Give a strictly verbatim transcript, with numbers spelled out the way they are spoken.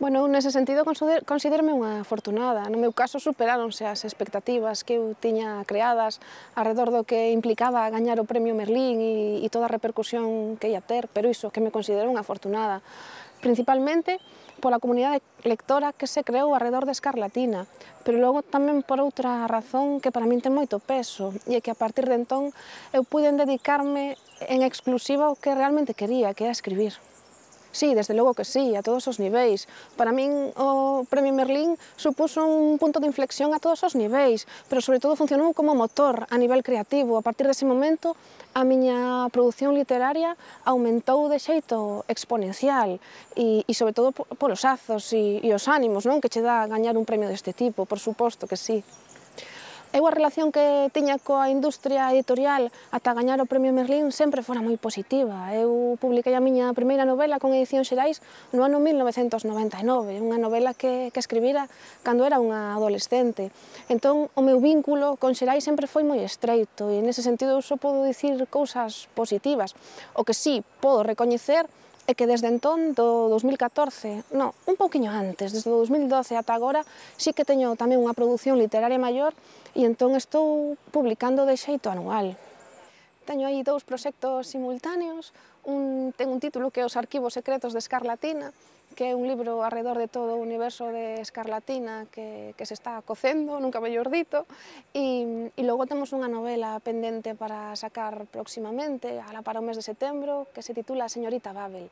Bueno, nese sentido considérome unha afortunada. No meu caso superáronse as expectativas que eu tiña creadas arredor do que implicaba gañar o premio Merlín e, e toda a repercusión que ia ter, pero iso, que me considero unha afortunada. Principalmente pola comunidade lectora que se creou arredor de Escarlatina, pero logo tamén por outra razón que para min ten moito peso, e é que a partir de entón eu puiden dedicarme en exclusiva ao que realmente quería, que era escribir. Sí, desde logo que sí, a todos os niveis. Para min o Premio Merlín supuso un punto de inflexión a todos os niveis, pero sobre todo funcionou como motor a nivel creativo. A partir dese momento, a miña produción literaria aumentou de xeito exponencial e, e sobre todo polos azos e, e os ánimos, non, que che dá gañar un premio deste tipo, por suposto que sí. Eu a relación que tiña coa industria editorial ata gañar o Premio Merlín sempre fora moi positiva. Eu publiquei a miña primeira novela con Edicións Xerais no ano mil novecentos noventa e nove, unha novela que, que escribira cando era unha adolescente. Entón, o meu vínculo con Xerais sempre foi moi estreito e nese sentido eu só podo dicir cousas positivas. O que sí podo recoñecer é que desde entón, do dos mil catorce, non, un pouquiño antes, desde o dos mil doce ata agora, sí que teño tamén unha produción literaria maior e entón estou publicando de xeito anual. Teño aí dous proxectos simultáneos, un, ten un título que é Os arquivos secretos de Escarlatina, que é un libro arredor de todo o universo de Escarlatina que, que se está cocendo, nunca mellor dito, e, e logo temos unha novela pendente para sacar próximamente, ala para o mes de setembro, que se titula A señorita Babel.